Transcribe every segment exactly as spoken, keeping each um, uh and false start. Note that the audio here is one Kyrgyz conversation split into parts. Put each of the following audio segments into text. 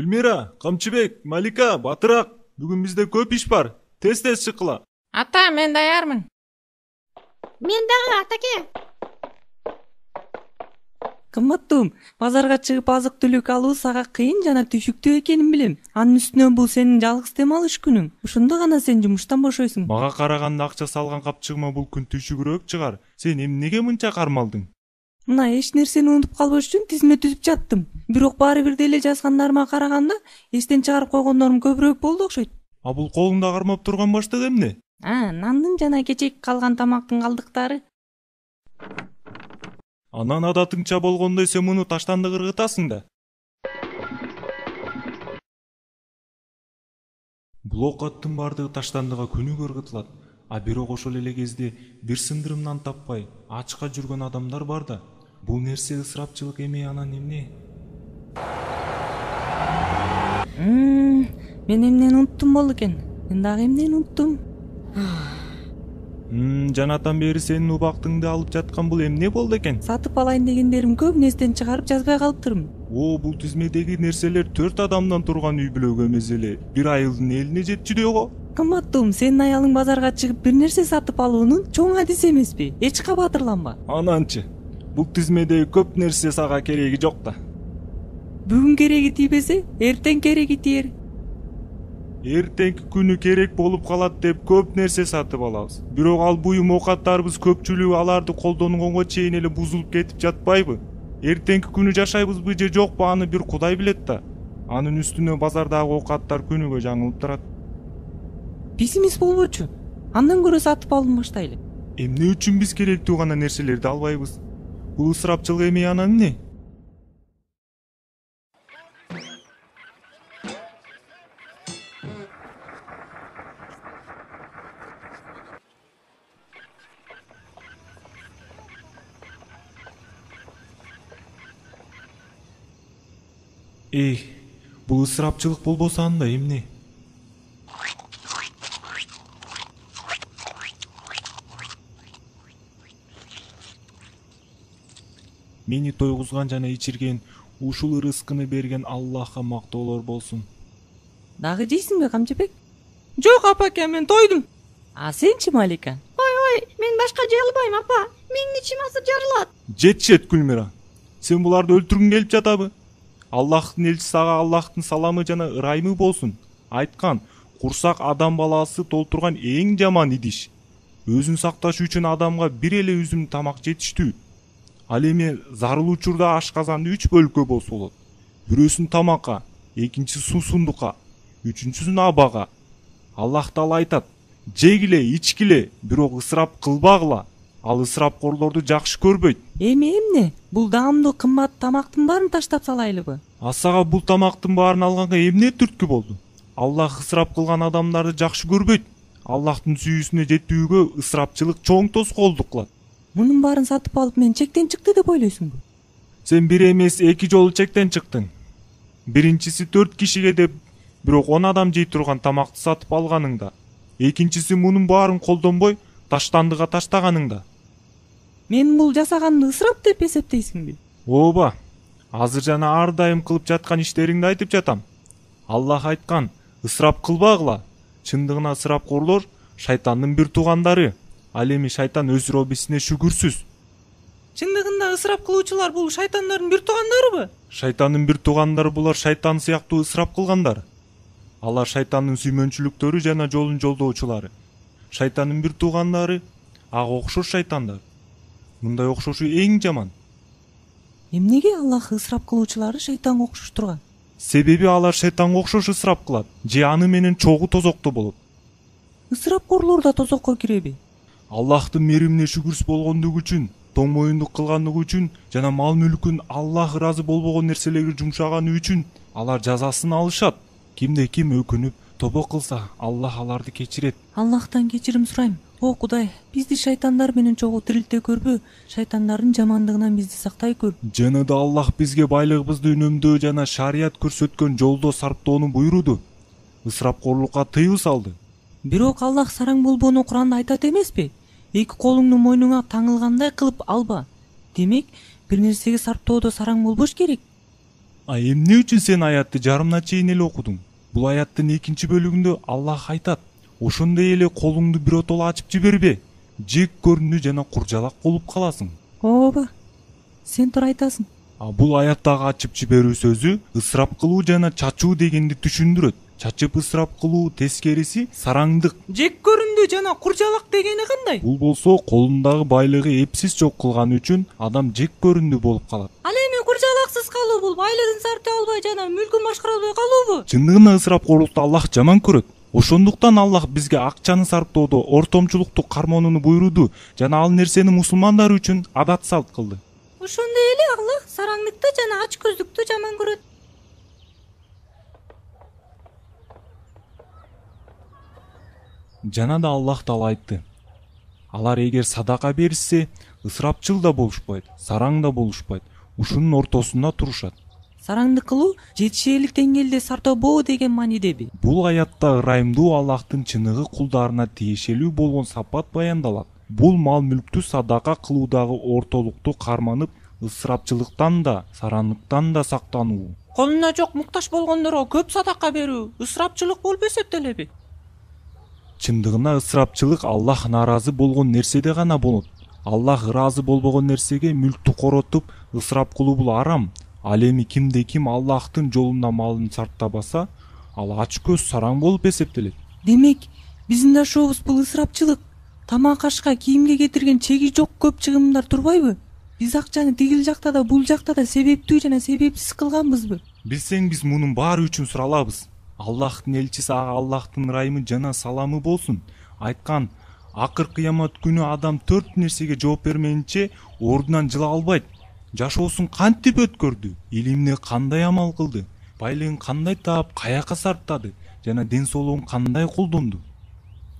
Гүлмира, Камчыбек, Малика, Батыраак, бүгүн бизде көп иш бар. Тез-тез чыккыла. Ата, мен даярмын. Мен дагы, атаке. Кымбаттуум, базарга чыгып азык-түлүк алуу сага кыйын жана түшүктүү экенин билем. Анын үстүнө бул сенин жалгыз дем алыш күнүң. Ошондо гана сен жумуштан бошойсуң. Мага караганда акча салган капчыгыма бул күн түшүгүрөөк чыгар. Сен эмнеге мынча кармалдың? Мына эч нерсени унутуп калбаш үчүн тизме түзүп жаттым. Бирок баары бир деле жазгандарыма караганда эстен чыгарып койгондорум көбүрөөк болду окшойт. А бул колуңда кармап турган баштык эмне? А, нандын жана кечээки калган тамактын калдыктары. Анан адатыңча болгондой сен муну таштанды кыргытасың да. Бул оокаттын баардыгы таштандыга күнүгө ыргытылат. А бирок ошол эле кезде бир сындырымдан таппай ачка жүргөн адамдар бар да. Бул нерсе ысырапчылык эме анан эмне? Мен эмнени унуттум болду экен. Мен дагы эмнени унуттум? Жанатан бери сенин убактыңды алып жаткан бул эмне болду экен? Сатып алайын дегендерим көп, эстен чыгарып жазбай калыптырмын. О, бул тизмедеги нерселер төрт адамдан турган үй бүлөгө эмес эле бир айылдын элине жетчүдөй го. Кымбаттуум, сенин аялың базарга чыгып бир нерсе сатып алуунун чоң адиси эмеспи? Эч кабатырланба. Ананчы, бул тизмедеги көп нерсе сага кереги жок да. Бүгүн кереги тийбесе, эртең кереги тиер. Эртеңки күнү керек болуп калат деп көп нерсе сатып алабыз. Бирок ал буюм оокаттарыбыз көпчүлүгү аларды колдонгонго чейин эле бузулуп кетип жатпайбы? Эртеңки күнү жашайбызбы же жокпу аны бир Кудай билет да. Анын үстүнө базардагы оокаттар күнүгө жаңылып турат. Пессимист болбочу. Андан көрө сатып алууну баштайлы. Эмне үчүн биз керектүү гана нерселерди албайбыз? Бул ысырапчылык эме анан эмне? Эй, бул ысырапчылык болбосо анда эмне? Мени тойгузган жана ичирген, ушул ырыскыны берген Аллахка мактоолор болсун. Дагы жейсиңби, Камчыбек? Жок, апаке, мен тойдум. А сенчи, Малика? Ой, ой, мен башка жей албайм, апа. Менин ичим азыр жарылат. Жетишет, Гүлмира. Сен буларды өлтүргүң келип жатабы? Аллахтын элчиси ага Аллахтын саламы жана ырайымы болсун. Айткан, курсак адам баласы толтурган эң жаман идиш. Өзүн сакташ үчүн адамга бир эле үзүм тамак жетиштүү. Ал эми зарыл учурда ашказанды үч бөлүккө болсо болот. Бирөөсүн тамакка, экинчиси суусундукка, үчүнчүсүн абага. Аллах таала айтат: жегиле, ичкиле, бирок ысырап кылбагыла. Ал ысырапкорлорду жакшы көрбөйт. Эми эмне? Бул даамдуу кымбат тамактын баарын таштап салайлыбы? Асага бул тамактын баарын алганга эмне түрткү болду? Аллах ысырап кылган адамдарды жакшы көрбөйт. Аллахтын сүйүүсүнө жетүүгө ысырапчылык чоң тоскоолдук кылат. Мунун баарын сатып алып мен чектен чыкты деп ойлойсуңбу? Сен бир эмес эки жолу чектен чыктың. Биринчиси төрт кишиге деп, бирок он адам жей турган тамакты сатып алганыңда. Экинчиси мунун баарын колдонбой, таштандыга таштаганыңда. Мен бул жасаганды ысырап деп эсептейсиңби? Ооба. Азыр жана ар дайым кылып жаткан иштериңди айтып жатам. Аллах айткан: ысырап кылбагыла. Чындыгына ысырапкорлор шайтандын бир туугандары. Ал эми шайтан өз робисине шүгүрсүз. Чындыгында ысырап кылуучулар бул шайтандардын бир туугандарыбы? Шайтандын бир туугандары булар шайтан сыяктуу ысырап кылгандар. Алар шайтандын сүймөнчүлүктөрү жана жолун жолдоочулары. Шайтандын бир туугандары ага окшош шайтандар. Мындай окшошу эң жаман. Эмнеге Аллах ысырап кылуучулары шайтанга окшош турган? Себеби алар шайтанга окшош ысырап кылат, же аны менен чогуу тозокто болот. Ысырапкорлор да тозокко киреби? Аллахтын меримине шүгүрсүз болгондугу үчүн, тоң моюндук кылгандыгы үчүн жана мал мүлкүн Аллах ыраазы болбогон нерселерге жумшаганы үчүн алар жазасын алышат. Кимде ким өкүнүп, тобо кылса, Аллах аларды кечирет. Аллахтан кечирим сурайм. О Кудай, бизди шайтандар менен чогуу тирилте көрбө, шайтандардын жамандыгынан бизди сактай көр. Жана да Аллах бизге байлыгыбызды үнөмдөө жана шарият көрсөткөн жолдо сарптоону буйруду. Ысырапкорлукка тыюу салды. Бирок Аллах сараң болбоону Куранда айтат эмеспи? Эки колуңду мойнуңа таңылгандай кылып алба. Демек, бир нерсеге сарптоодо сараң болбош керек. А эмне үчүн сен аятты жарымына чейин эле окудуң? Бул аяттын экинчи бөлүгүндө Аллах айтат: ошондой эле колуңду биротоло ачып жибербе, жек көрүндү жана куржалак болуп каласың. Ооба, сен туура айтасың. А бул аяттагы ачып жиберүү сөзү ысырап кылуу жана чачуу дегенди түшүндүрөт. Чачып ысырап кылуу тескериси сараңдык. Жек көрүндү жана куржалак дегени кандай? Бул болсо колундагы байлыгы эпсиз жок кылганы үчүн адам жек көрүндү болуп калат. Ал эми куржалаксыз калуу бул байлыгын сарптай албай жана мүлкүн башкара албай калуубу? Чындыгында ысырапкорлукту Аллах жаман көрөт. Ошондуктан Аллах бизге акчаны сарптоодо ортомчулукту кармонууну буйруду жана ал нерсени мусулмандар үчүн адат салт кылды. Ошондой эле Аллах сараңдыкты жана ачкөздүктү жаман көрөт. Жана да Аллах таала айтты: алар эгер садака беришсе, ысырапчыл да болушпайт, сараң да болушпайт, ушунун ортосунда турушат. Сараңдык кылуу жетишээлик деңгээлде сартобоо деген маанидеби? Бул аятта ырайымдуу Аллахтын чыныгы кулдарына тиешелүү болгон сапат баяндалат. Бул мал мүлктү садака кылуудагы ортолукту карманып, ысырапчылыктан да, сарандыктан да сактануу. Колуна жок муктаж болгондорго көп садака берүү ысырапчылык болуп эсептелеби? Чындыгында ысырапчылык Аллах нааразы болгон нерседе гана болот. Аллах ыраазы болбогон нерсеге мүлктү коротуп, ысырап кылуу бул арам. Ал эми кимде ким Аллахтын жолунда малын сарптабаса, ал ачкөз сараң болуп эсептелет. Демек, биздин дашообуз бул ысырапчылык. Тамак ашка, кийимге кетирген чеги жок көп чыгымдар турбайбы? Биз акчаны тигил жакта да, бул жакта да себептүү жана себепсиз кылганбызбы? Билсең, биз мунун баары үчүн суралабыз. Аллахтын элчиси ага Аллахтын ырайымы жана саламы болсун айткан: акыр кыямат күнү адам төрт нерсеге жооп бермейинче ордунан жыла албайт. Жашоосун кантип өткөрдү, илимди кандай амал кылды, байлыгын кандай таап, каяка сарптады жана ден соолугун кандай колдонду.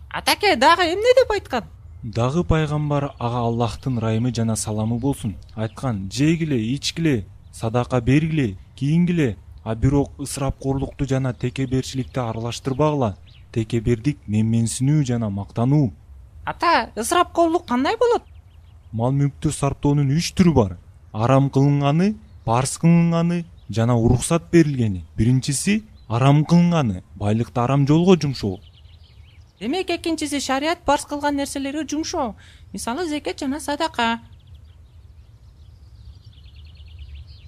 Атаке дагы эмне деп айткан? Дагы пайгамбар ага Аллахтын ырайымы жана саламы болсун айткан: жегиле, ичкиле, садака бергиле, кийингиле, а бирок ысырапкорлукту жана текеберчиликти аралаштырбагыла. Текебердик менменсинүү жана мактануу. Ата, ысырапкорлук кандай болот? Мал мүлктү сарптоонун үч түрү бар: арам кылынганы, парз кылынганы жана уруксат берилгени. Биринчиси арам кылынганы, байлыкты арам жолго жумшоо. Демек экинчиси шарият парз кылган нерселерге жумшоо, мисалы зекет жана садака.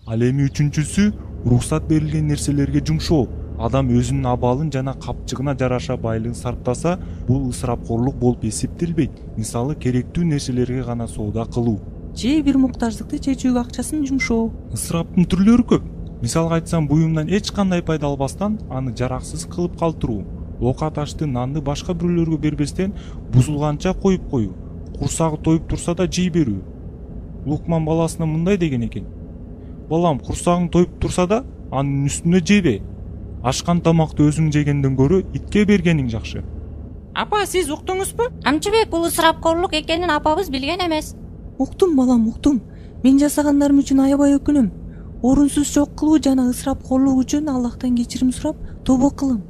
Ал эми үчүнчүсү уруксат берилген нерселерге жумшоо. Адам өзүнүн абалын жана капчыгына жараша байлыгын сарптаса, бул ысырапкорлук болуп эсептелбейт. Мисалы керектүү нерселерге гана соода кылуу же бир муктаждыкты чечүүгө акчасын жумшоо. Ысыраптын түрлөрү көп. Мисалга айтсам, буюмдан эч кандай пайда албастан аны жараксыз кылып калтыруу, ока ташты, нанды башка бирөөлөргө бербестен бузулганча коюп коюу, курсагы тоюп турса да жей берүү. Лукман баласына мындай деген экен: балам, курсагың тоюп турса да анын үстүнө жебе. Ашкан тамакты өзүң жегенден көрө итке бергениң жакшы. Апа, сиз уктуңузбу? Камчыбек, бул ысырапкорлук экенин апабыз билген эмес. Уктум балам, уктум. Мен жасагандарым үчүн аябай өкүнөм. Орунсуз жок кылуу жана ысырапкорлук үчүн Аллахтан кечирим сурап, тобо кылам.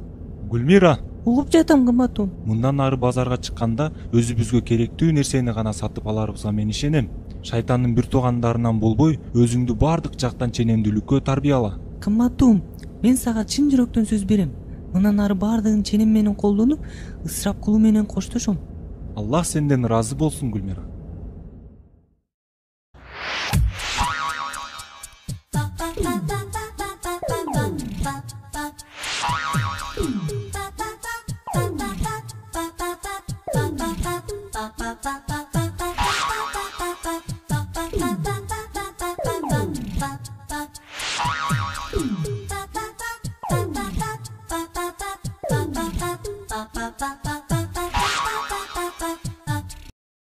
Гүлмира, Угуп жатам, кымбатым. мындан ары базарга чыкканда өзүбүзгө керектүү нерсени гана сатып аларыбызга мен ишенем. Шайтандын бир туугандарынан болбой, өзүңдү бардык жактан ченемдүүлүккө тарбияла. Кымбатым, мен сага чын жүрөктөн сөз берем. Мындан ары бардыгын ченем менен колдонуп, ысырап кылуу менен коштошом. Аллах сенден ыраазы болсун, Гүлмира.